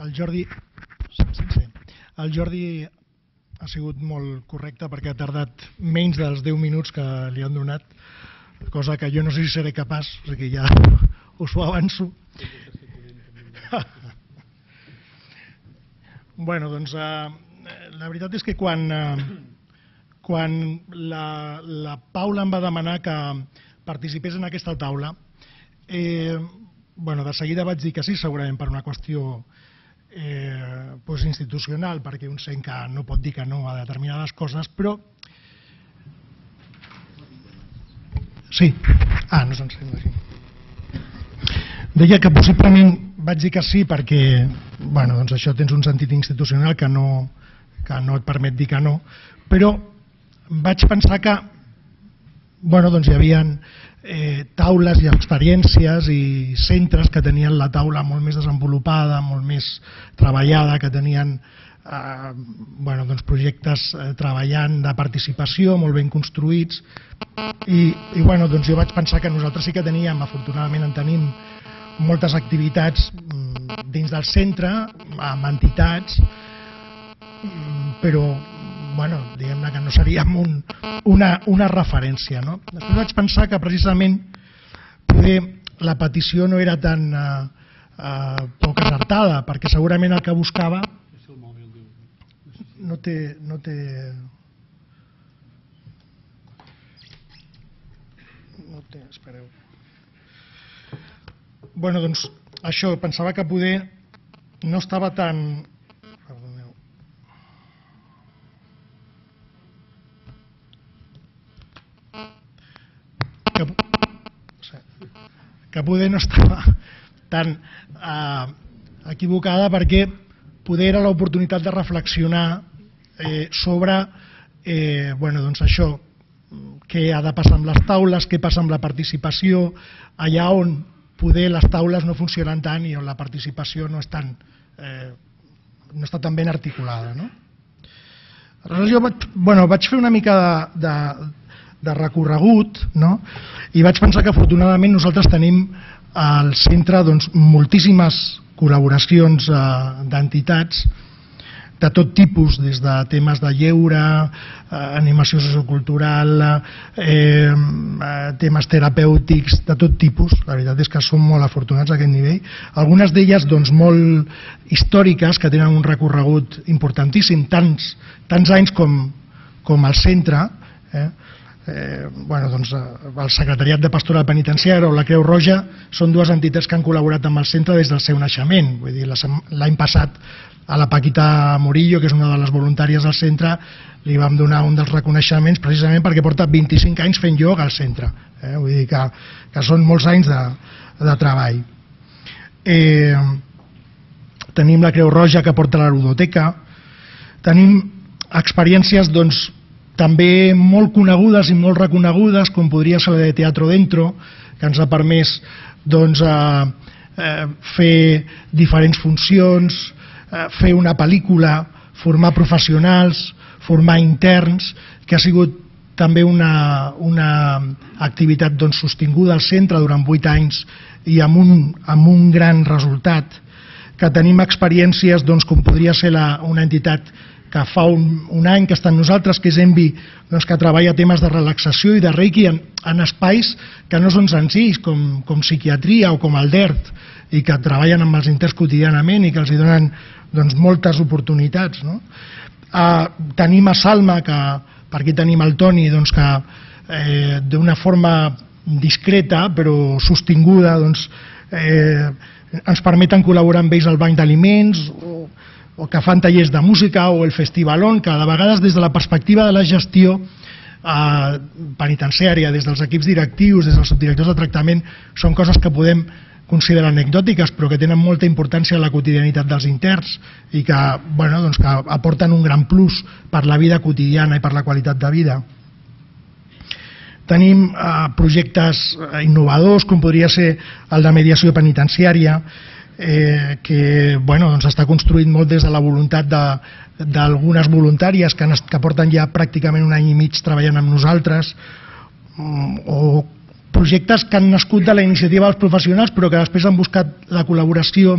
El Jordi ha sigut molt correcte perquè ha tardat menys dels 10 minuts que li han donat, cosa que jo no sé si seré capaç, o sigui que ja us ho avanço. Bueno, doncs la veritat és que quan la Paula em va demanar que participés en aquesta taula, de seguida vaig dir que sí, segurament per una qüestió institucional, perquè un sent que no pot dir que no a determinades coses, però... Sí, no se'n sent així. Deia que possiblement vaig dir que sí perquè, doncs això tens un sentit institucional que no et permet dir que no, però vaig pensar que hi havia taules i experiències i centres que tenien la taula molt més desenvolupada, molt més treballada, que tenien projectes treballant de participació molt ben construïts i jo vaig pensar que nosaltres sí que teníem, afortunadament en tenim moltes activitats dins del centre, amb entitats, però diguem-ne que no seríem una referència. Després vaig pensar que precisament poder la petició no era tan poc acertada, perquè segurament el que buscava no té... Espereu. Doncs això, pensava que poder no estava tan... Perdoneu. Que poder no estava tan equivocada perquè poder era l'oportunitat de reflexionar sobre això, què ha de passar amb les taules, què passa amb la participació, allà on poder les taules no funcionen tant i on la participació no està tan ben articulada. Aleshores jo vaig fer una mica de recorregut i vaig pensar que afortunadament nosaltres tenim al centre moltíssimes col·laboracions d'entitats de tot tipus, des de temes de lleure, animació sociocultural, temes terapèutics, de tot tipus. La veritat és que som molt afortunats a aquest nivell. Algunes d'elles molt històriques, que tenen un recorregut importantíssim, tants anys com el centre. El Secretariat de Pastoral Penitenciària o la Creu Roja són dues entitats que han col·laborat amb el centre des del seu naixement. L'any passat a la Paquita Murillo, que és una de les voluntàries del centre, li vam donar un dels reconeixements precisament perquè porta 25 anys fent ioga al centre. Vull dir que són molts anys de treball. Tenim la Creu Roja que porta la ludoteca. Tenim experiències també molt conegudes i molt reconegudes, com podria ser la de Teatro Dentro, que ens ha permès fer diferents funcions, fer una pel·lícula, formar professionals, formar interns, que ha sigut també una activitat sostinguda al centre durant 8 anys i amb un gran resultat, que tenim experiències com podria ser una entitat que fa un any que està amb nosaltres, que és Envi, que treballa temes de relaxació i de reiki en espais que no són senzills, com psiquiatria o com el DERT, i que treballen amb els interns quotidianament i que els donen moltes oportunitats. Tenim a Salma, que per aquí tenim el Toni, que d'una forma discreta però sostinguda ens permeten col·laborar amb ells al banc d'aliments, o que fan tallers de música, o el Festivalón, que de vegades des de la perspectiva de la gestió penitenciària, des dels equips directius, des dels subdirectors de tractament, són coses que podem considerar anecdòtiques, però que tenen molta importància en la quotidianitat dels interns i que aporten un gran plus per la vida quotidiana i per la qualitat de vida. Tenim projectes innovadors, com podria ser el de mediació penitenciària, que està construït molt des de la voluntat d'algunes voluntàries que porten ja pràcticament un any i mig treballant amb nosaltres, o projectes que han nascut de la iniciativa dels professionals però que després han buscat la col·laboració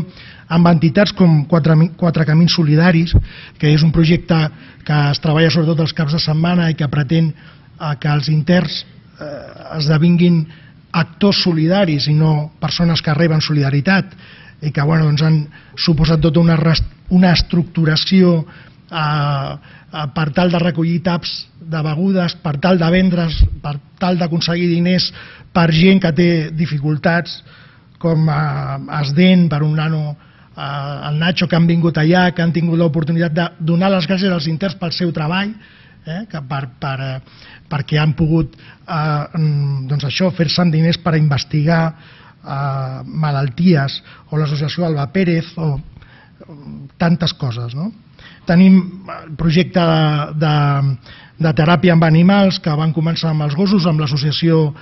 amb entitats com Quatre Camins Solidaris, que és un projecte que es treballa sobretot els caps de setmana i que pretén que els interns esdevinguin actors solidaris i no persones que reben solidaritat, i que han suposat tota una estructuració per tal de recollir taps de begudes, per tal de vendre's, per tal d'aconseguir diners per gent que té dificultats, com Esdent, per un nano, el Nacho, que han vingut allà, que han tingut l'oportunitat de donar les gràcies als interns pel seu treball, perquè han pogut fer-se diners per investigar malalties, o l'associació Alba Pérez, o tantes coses. Tenim el projecte de teràpia amb animals, que van començar amb els gossos, amb l'associació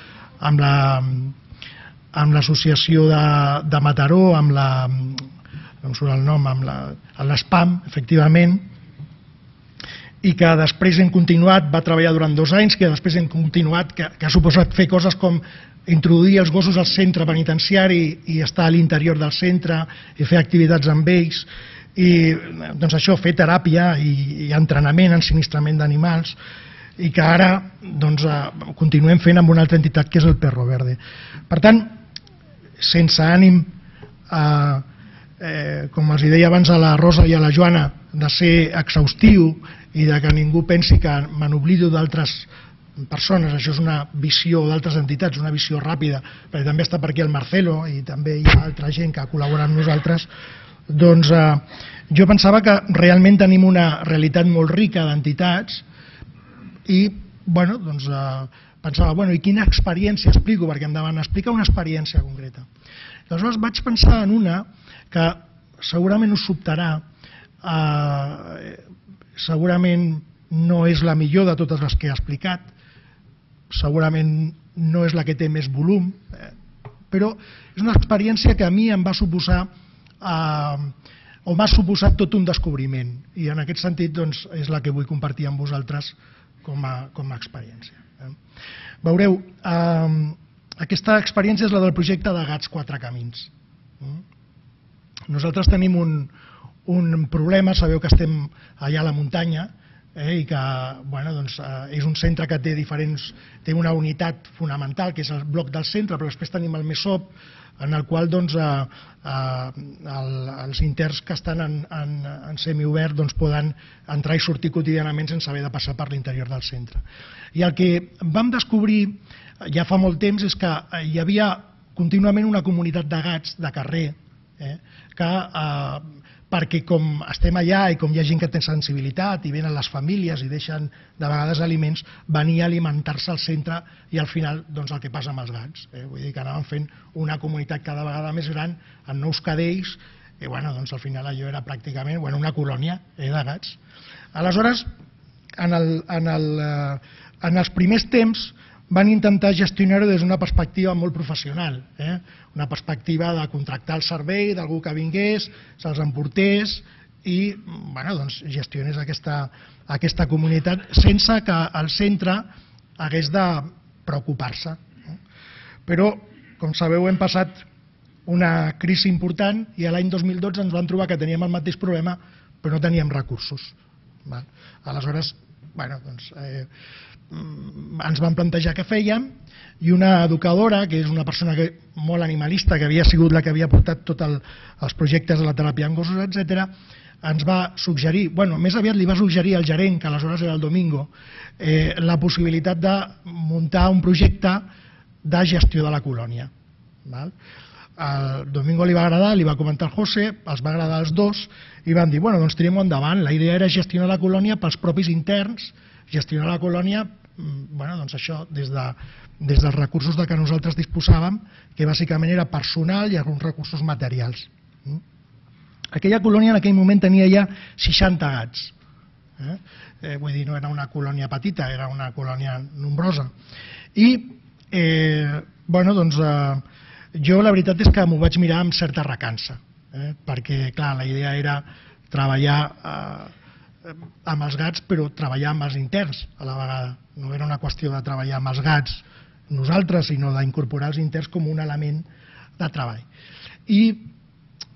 de Mataró, amb no em surt el nom, amb l'ESPAM, efectivament, i que després hem continuat, va treballar durant 2 anys, que després hem continuat, que ha suposat fer coses com introduir els gossos al centre penitenciari i estar a l'interior del centre i fer activitats amb ells, i això, fer teràpia i entrenament, ensinistrament d'animals, i que ara continuem fent amb una altra entitat que és el Perro Verde. Per tant, sense ànim, com els deia abans a la Rosa i a la Joana, de ser exhaustiu i de que ningú pensi que me n'oblido d'altres persones, això és una visió d'altres entitats, una visió ràpida, perquè també està per aquí el Marcelo i també hi ha altra gent que col·labora amb nosaltres. Doncs jo pensava que realment tenim una realitat molt rica d'entitats i pensava, i quina experiència explico, perquè em deman explicar una experiència concreta. Aleshores vaig pensar en una que segurament us sobtarà, segurament no és la millor de totes les que he explicat, segurament no és la que té més volum, però és una experiència que a mi em va suposar o m'ha suposat tot un descobriment, i en aquest sentit és la que vull compartir amb vosaltres com a experiència. Veureu, aquesta experiència és la del projecte de Gats Quatre Camins. Nosaltres tenim un problema, sabeu que estem allà a la muntanya i que és un centre que té una unitat fonamental, que és el bloc del centre, però després tenim el MESOP, en el qual els interns que estan en semiobert poden entrar i sortir quotidianament sense haver de passar per l'interior del centre. I el que vam descobrir ja fa molt temps és que hi havia contínuament una comunitat de gats de carrer que, perquè com estem allà i com hi ha gent que té sensibilitat i venen les famílies i deixen de vegades aliments, venia a alimentar-se al centre i al final el que passa amb els gats. Vull dir que anàvem fent una comunitat cada vegada més gran en nous cadells i al final allò era pràcticament una colònia de gats. Aleshores, en els primers temps van intentar gestionar-ho des d'una perspectiva molt professional, una perspectiva de contractar el servei d'algú que vingués, se'ls emportés i gestionés aquesta comunitat sense que el centre hagués de preocupar-se. Però, com sabeu, hem passat una crisi important i l'any 2012 ens vam trobar que teníem el mateix problema però no teníem recursos. Aleshores, ens van plantejar què fèiem i una educadora, que és una persona molt animalista, que havia sigut la que havia portat tots els projectes de la teràpia amb gossos, etc., ens va suggerir, més aviat li va suggerir al gerent, que aleshores era el Domingo, la possibilitat de muntar un projecte de gestió de la colònia. Al Domingo li va agradar, li va comentar al José, els va agradar als dos i van dir, tirem-ho endavant. La idea era gestionar la colònia pels propis interns, gestionar la colònia això des dels recursos de què nosaltres disposàvem, que bàsicament era personal i alguns recursos materials. Aquella colònia en aquell moment tenia ja 60 gats. Vull dir, no era una colònia petita, era una colònia nombrosa. I, jo la veritat és que m'ho vaig mirar amb certa recança, perquè, clar, la idea era treballar amb els gats, però treballar amb els interns a la vegada. No era una qüestió de treballar amb els gats nosaltres, sinó d'incorporar els interns com un element de treball. I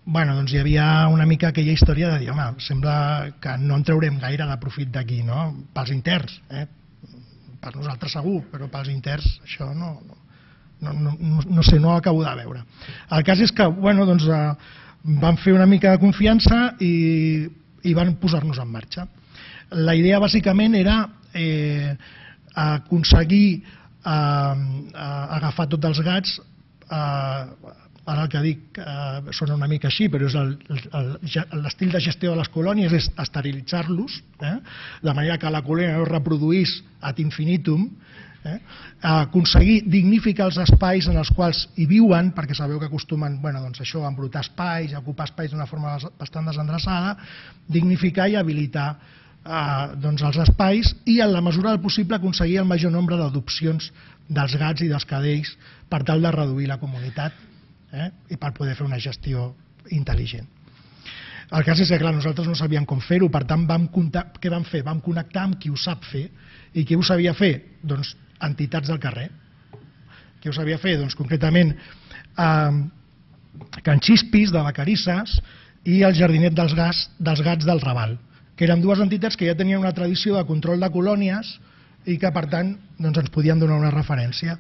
doncs hi havia una mica aquella història de dir, home, sembla que no en traurem gaire de profit d'aquí, no? Pels interns, per nosaltres segur, però pels interns això no sé, no ho acabo de veure. El cas és que van fer una mica de confiança i van posar-nos en marxa. La idea bàsicament era aconseguir agafar tots els gats, ara el que dic sona una mica així, però és l'estil de gestió de les colònies és esterilitzar-los, de manera que la colònia no es reproduís ad infinitum, aconseguir dignificar els espais en els quals hi viuen, perquè sabeu que acostumen a embrutar espais, a ocupar espais d'una forma bastant desendreçada, dignificar i habilitar els espais i, en la mesura del possible, aconseguir el major nombre d'adopcions dels gats i dels cadells per tal de reduir la comunitat i per poder fer una gestió intel·ligent. El cas és que, clar, nosaltres no sabíem com fer-ho, per tant, què vam fer? Vam connectar amb qui ho sap fer. I qui ho sabia fer? Doncs entitats del carrer. Qui ho sabia fer? Doncs concretament Can Xispis, de Vacarisses, i el Jardinet dels Gats del Raval, que eren dues entitats que ja tenien una tradició de control de colònies i que, per tant, ens podien donar una referència.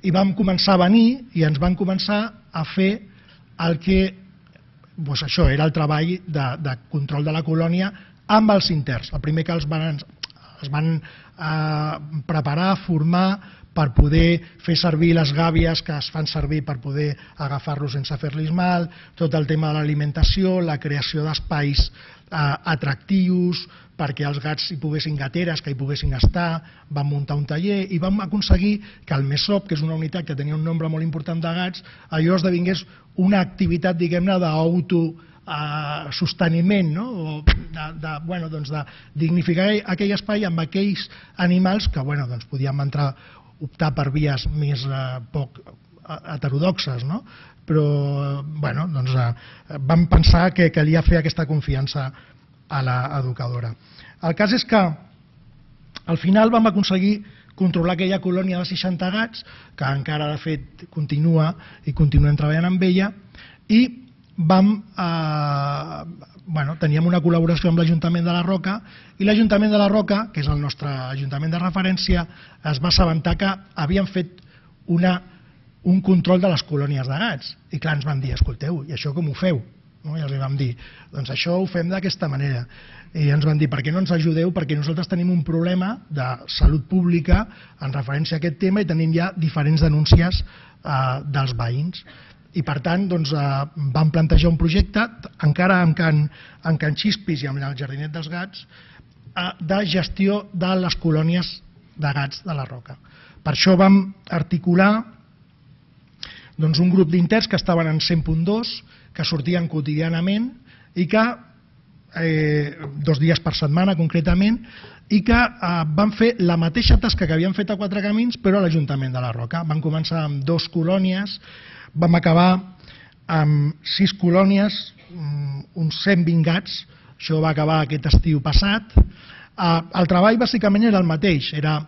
I vam començar a venir i ens van començar a fer el que això era el treball de control de la colònia amb els interns. El primer que els van preparar, formar, per poder fer servir les gàbies que es fan servir per poder agafar-los sense fer-los mal, tot el tema de l'alimentació, la creació d'espais atractius perquè els gats hi poguessin gateres, que hi poguessin estar, vam muntar un taller i vam aconseguir que el MESOP, que és una unitat que tenia un nombre molt important de gats, allò esdevingués una activitat, diguem-ne, d'autososteniment, de dignificar aquell espai amb aquells animals que podíem optar per vies més poc heterodoxes, però vam pensar que calia fer aquesta confiança a l'educadora. El cas és que al final vam aconseguir controlar aquella colònia de 60 gats, que encara de fet continua i continuem treballant amb ella, i teníem una col·laboració amb l'Ajuntament de la Roca, i l'Ajuntament de la Roca, que és el nostre ajuntament de referència, es va assabentar que havien fet un control de les colònies de gats. I clar, ens van dir, escolteu, i això com ho feu? I els vam dir, doncs això ho fem d'aquesta manera. I ens van dir, per què no ens ajudeu? Perquè nosaltres tenim un problema de salut pública en referència a aquest tema i tenim ja diferents denúncies dels veïns. I per tant, vam plantejar un projecte, encara en Can Xispis i amb el Jardinet dels Gats, de gestió de les colònies de gats de la Roca. Per això vam articular un grup d'interns que estaven en 100.2, que sortien quotidianament i que 2 dies per setmana concretament, i que van fer la mateixa tasca que havien fet a Quatre Camins però a l'Ajuntament de la Roca. Van començar amb 2 colònies, vam acabar amb 6 colònies, uns 120 gats, això va acabar aquest estiu passat. El treball bàsicament era el mateix, era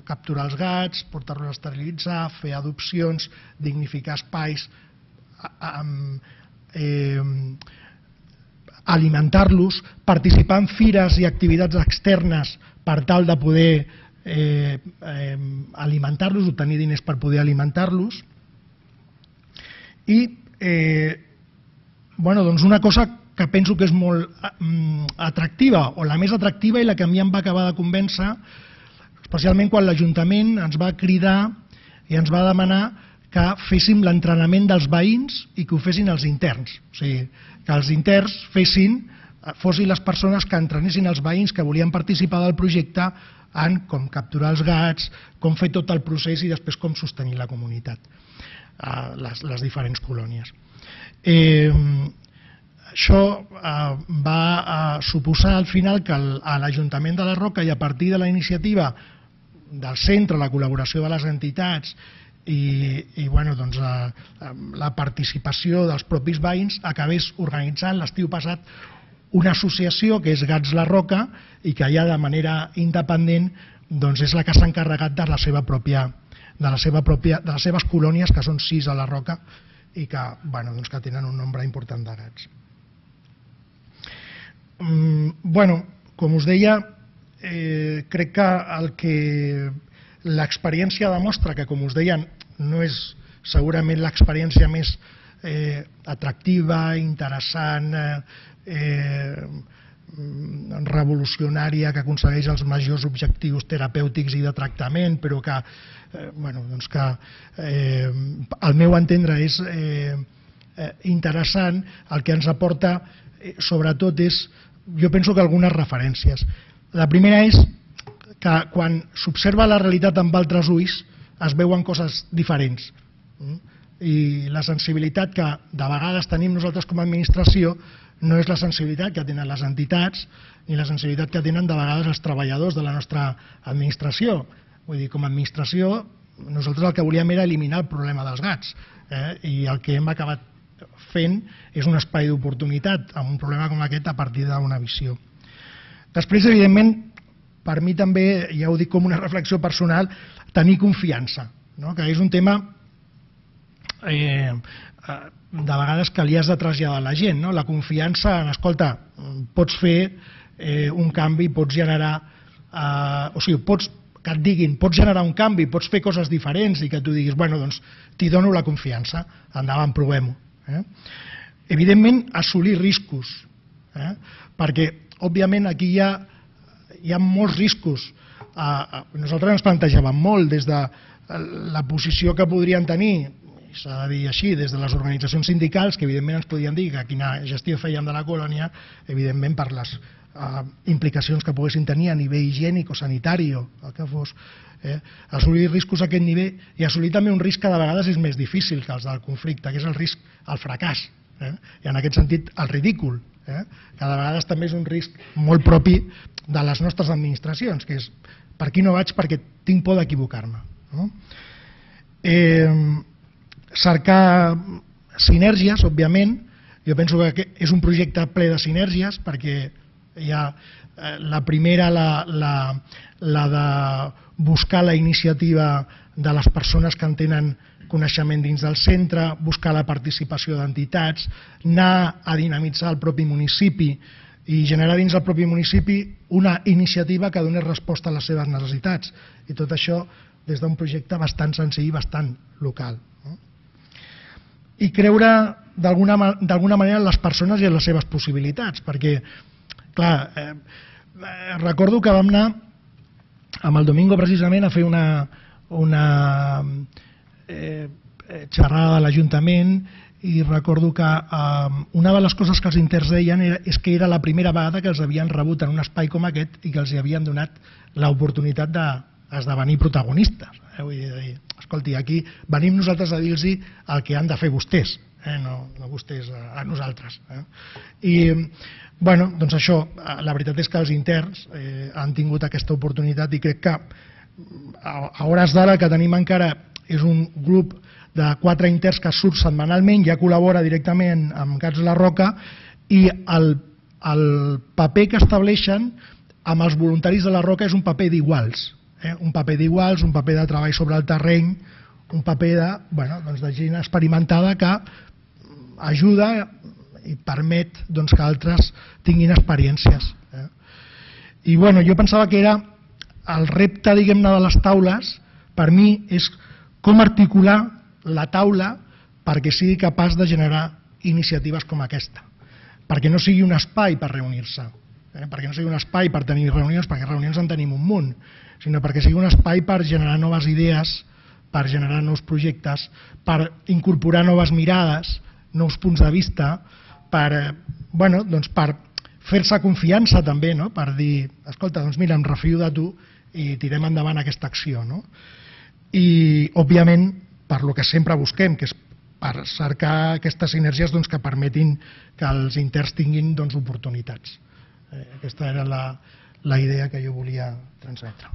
capturar els gats, portar-los a esterilitzar, fer adopcions, dignificar espais, alimentar-los, participar en fires i activitats externes per tal de poder alimentar-los, obtenir diners per poder alimentar-los. I una cosa que penso que és molt atractiva, o la més atractiva i la que a mi em va acabar de convèncer, especialment quan l'Ajuntament ens va cridar i ens va demanar que féssim l'entrenament dels veïns i que ho fessin els interns. O sigui, que els interns fossin les persones que entrenessin els veïns que volien participar del projecte en com capturar els gats, com fer tot el procés i després com sostenir la comunitat, les diferents colònies. Això va suposar al final que a l'Ajuntament de la Roca, i a partir de la iniciativa del centre, la col·laboració de les entitats i la participació dels propis veïns, acabés organitzant l'estiu passat una associació que és Gats La Roca i que ja de manera independent doncs és la que s'ha encarregat de les seves colònies, que són 6 a la Roca i que, bueno, doncs que tenen un nombre important de gats. Bueno, com us deia, crec que l'experiència demostra que, com us deia, no és segurament l'experiència més atractiva, interessant, revolucionària, que aconsegueix els majors objectius terapèutics i de tractament, però que, doncs que al meu entendre és interessant. El que ens aporta sobretot és, jo penso que algunes referències. La primera és que quan s'observa la realitat amb altres ulls es veuen coses diferents, i la sensibilitat que de vegades tenim nosaltres com a administració no és la sensibilitat que tenen les entitats ni la sensibilitat que tenen de vegades els treballadors de la nostra administració. Vull dir, com a administració nosaltres el que volíem era eliminar el problema dels gats, i el que hem acabat fent és un espai d'oportunitat amb un problema com aquest a partir d'una visió. Després, evidentment, per mi també, ja ho dic com una reflexió personal, tenir confiança, que és un tema de vegades que li has de traslladar a la gent. La confiança en, escolta, pots fer un canvi, pots generar, o sigui, que et diguin, pots generar un canvi, pots fer coses diferents i que tu diguis, bueno, doncs t'hi dono la confiança, endavant, provem-ho. Evidentment, assolir riscos, perquè, òbviament, aquí hi ha molts riscos. Nosaltres ens plantejàvem molt des de la posició que podrien tenir, s'ha de dir així, des de les organitzacions sindicals, que evidentment ens podien dir que quina gestió fèiem de la colònia, evidentment per les implicacions que poguessin tenir a nivell higiènic o sanitari o el que fos. Assolir riscos a aquest nivell i assolir també un risc que de vegades és més difícil que els del conflicte, que és el risc al fracàs, i en aquest sentit el ridícul, que de vegades també és un risc molt propi de les nostres administracions, que és per aquí no vaig perquè tinc por d'equivocar-me. Cercar sinergies, òbviament. Jo penso que és un projecte ple de sinergies, perquè hi ha la primera, la de buscar la iniciativa de les persones que en tenen coneixement dins del centre, buscar la participació d'entitats, anar a dinamitzar el propi municipi i generar dins del propi municipi una iniciativa que donés resposta a les seves necessitats. I tot això des d'un projecte bastant senzill i bastant local. I creure d'alguna manera en les persones i en les seves possibilitats, perquè, clar, recordo que vam anar amb el Domingo precisament a fer una xerrada de l'Ajuntament, i recordo que una de les coses que els interns deien és que era la primera vegada que els havien rebut en un espai com aquest i que els havien donat l'oportunitat d'esdevenir protagonistes. Vull dir, escolti, aquí venim nosaltres a dir-los el que han de fer vostès, no vostès a nosaltres. I, bueno, doncs això, la veritat és que els interns han tingut aquesta oportunitat i crec que a hores d'ara que tenim encara és un grup de 4 interns que surt setmanalment, ja col·labora directament amb Gats La Roca, i el paper que estableixen amb els voluntaris de La Roca és un paper d'iguals. Un paper d'iguals, un paper de treball sobre el terreny, un paper de gent experimentada que ajuda i permet que altres tinguin experiències. I jo pensava que era el repte, diguem-ne, de les taules, per mi, és com articular la taula perquè sigui capaç de generar iniciatives com aquesta, perquè no sigui un espai per reunir-se, perquè no sigui un espai per tenir reunions, perquè reunions en tenim un munt, sinó perquè sigui un espai per generar noves idees, per generar nous projectes, per incorporar noves mirades, nous punts de vista, per fer-se confiança també, per dir, escolta, doncs mira, em refio de tu i tirem endavant aquesta acció. I, òbviament, per lo que sempre busquem, que és per cercar aquestes sinergies que permetin que els interns tinguin oportunitats. Aquesta era la idea que jo volia transmetre.